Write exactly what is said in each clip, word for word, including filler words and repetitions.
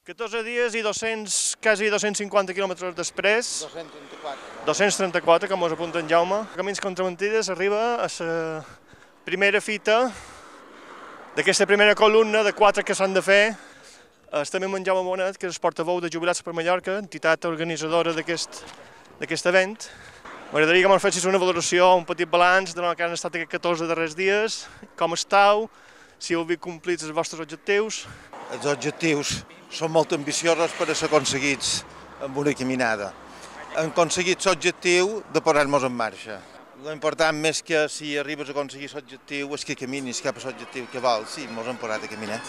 catorze dies i dos-cents, quasi dos-cents cinquanta quilòmetres després, dos-cents trenta-quatre. dos-cents trenta-quatre, com us apunta en Jaume, Camins contra Mentides arriba a la primera fita d'aquesta primera columna de quatre que s'han de fer. Estem amb en Jaume Bonet, que és el portaveu de Jubilats per Mallorca, entitat organitzadora d'aquest event. M'agradaria que me'n fessis una valoració, un petit balanç de lo que han estat aquests catorze darrers dies, com estàu, si heu vist complits els vostres objectius. Els objectius són molt ambiciosos per a ser aconseguits amb una caminada. Hem aconseguit l'objectiu de posar-nos en marxa. L'important més que si arribes a aconseguir l'objectiu és que caminis cap a l'objectiu que vols. Sí, ens hem posat a caminar.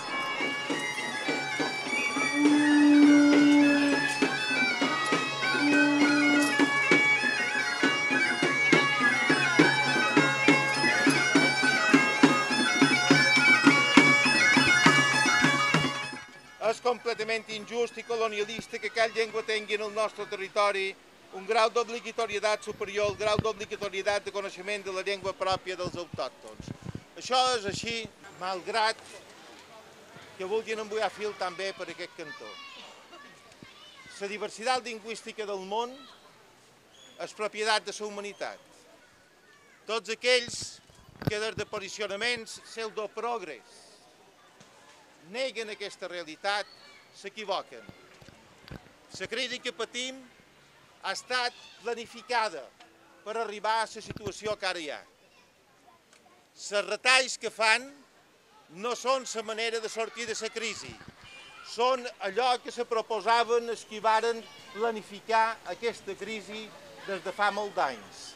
És completament injust i colonialista que cada llengua tingui en el nostre territori un grau d'obligatorietat superior al grau d'obligatorietat de coneixement de la llengua pròpia dels autòctons. Això és així, malgrat que vulguin embullar fil també per aquest cantó. La diversitat lingüística del món és propietat de la humanitat. Tots aquells que des de posicionaments pseudoprogres neguen aquesta realitat, s'equivoquen. La crisi que patim ha estat planificada per arribar a la situació que ara hi ha. Els retalls que fan no són la manera de sortir de la crisi, són allò que se proposaven els que varen planificar aquesta crisi des de fa molts d'anys.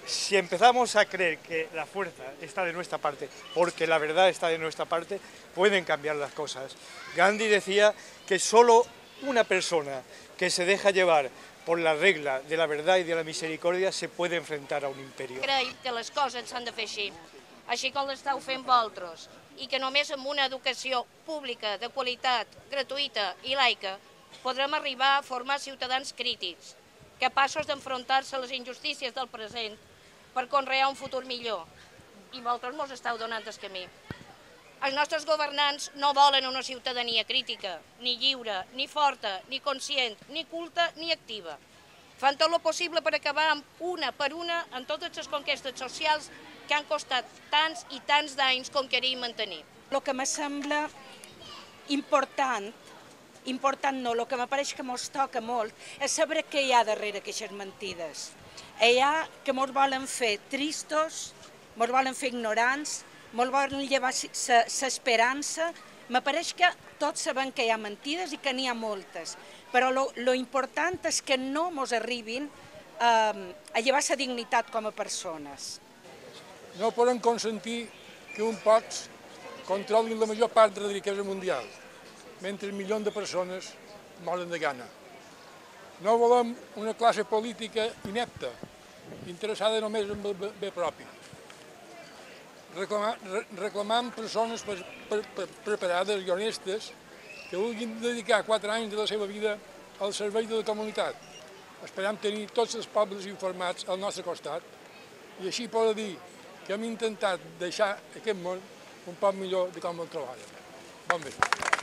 Si empezamos a creer que la fuerza está de nuestra parte, porque la verdad está de nuestra parte, pueden cambiar las cosas. Gandhi decía que solo una persona que se deja llevar por la regla de la verdad y de la misericordia se puede enfrentar a un imperio. Crec que les coses s'han de fer així, així com l'estàu fent vosaltres, i que només amb una educació pública, de qualitat, gratuïta i laica, podrem arribar a formar ciutadans crítics, capaços d'enfrontar-se a les injustícies del present per conrear un futur millor. I vosaltres mos esteu donant el camí. Els nostres governants no volen una ciutadania crítica, ni lliure, ni forta, ni conscient, ni culta, ni activa. Fan tot el possible per acabar amb una per una en totes les conquestes socials que han costat tants i tants d'anys conquerir i mantenir. El que me sembla important, important no, el que m'apareix que mos toca molt és saber què hi ha darrere aquestes mentides. Hi ha que mos volen fer tristos, mos volen fer ignorants, mos volen llevar l'esperança. M'apareix que tots sabem que hi ha mentides i que n'hi ha moltes, però lo important és que no mos arribin a llevar la dignitat com a persones. No podem consentir que un pocs controlin la major part de la riquesa mundial, mentre milions de persones moren de gana. No volem una classe política inepta, interessada només en el bé propi. Reclamam persones preparades i honestes que vulguin dedicar quatre anys de la seva vida al servei de la comunitat. Esperam tenir tots els pobles informats al nostre costat i així poder dir que hem intentat deixar aquest món un poc millor de com el trobàvem. Bon vespre.